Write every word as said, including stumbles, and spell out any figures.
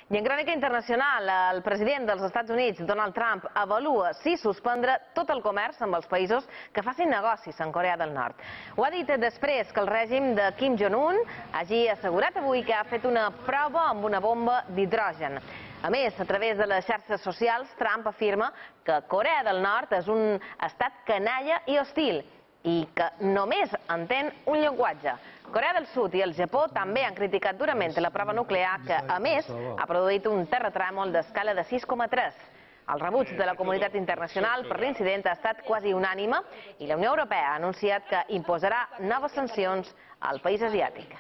I en crònica internacional, el president dels Estats Units, Donald Trump, avalua si suspendre tot el comerç amb els països que facin negocis en Corea del Nord. Ho ha dit després que el règim de Kim Jong-un hagi assegurat avui que ha fet una prova amb una bomba d'hidrogen. A més, a través de les xarxes socials, Trump afirma que Corea del Nord és un estat canalla i hostil i que només entén un llenguatge. Corea del Sud i el Japó també han criticat durament la prova nuclear que, a més, ha produït un terratrèmol d'escala de sis coma tres. El rebuig de la comunitat internacional per l'incident ha estat quasi unànime i la Unió Europea ha anunciat que imposarà noves sancions al país asiàtic.